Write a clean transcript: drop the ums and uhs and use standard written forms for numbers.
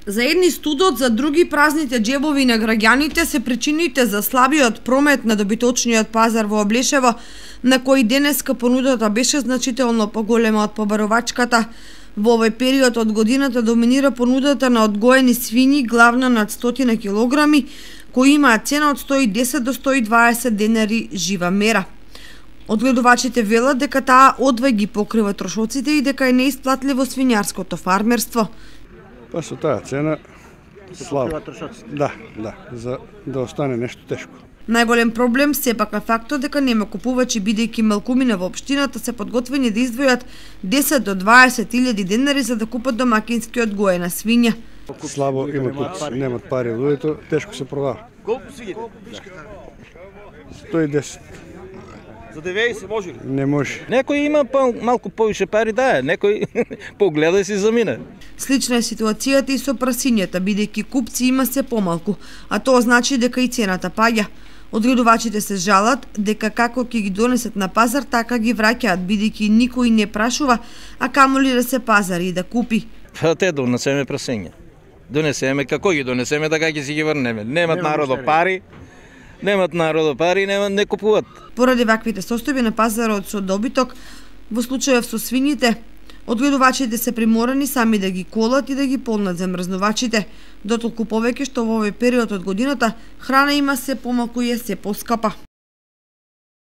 За едни студот, за други празните џебови на граѓаните се причините за слабиот промет на добиточниот пазар во Облешево, на кој денеска понудата беше значително поголема од побаровачката. Во овој период од годината доминира понудата на одгоени свињи, главно над 100 килограми, кои имаат цена од 110 до 120 денари жива мера. Одгледувачите велат дека таа одвај ги покрива трошоците и дека е неисплатливо свињарското фармерство. Па со таа цена слабо. Да, за да остане нешто тешко. Најголем проблем сепак е фактот дека нема купувачи, бидејќи малкумина во општината се подготвени да издвојат 10 до 20 илјади денари за да купат домакински одгоена свиња. Слабо има купци, немат пари луѓето, тешко се продава. Колку свиња? 110. За 90 може ли? Не може. Некој има малку повише пари, да, некој погледа и си замине. Слична е ситуацијата и со прасињата, бидејќи купци има се помалку, а тоа значи дека и цената паѓа. Одгледувачите се жалат дека како ќе ги донесат на пазар, така ги враќаат, бидејќи никој не прашува, а камоли да се пазари и да купи. Те донесеме прасиња. Донесеме, како ги донесеме, така ќе си ги врнеме. Немат народо пари, не купуват. Поради ваквите состојби на пазарот со добиток, во случајов со свињите, одгледувачите се приморани сами да ги колат и да ги полнат замрзнувачите, дотолку повеќе што во овој период од годината храна има се помалку и е се поскапа.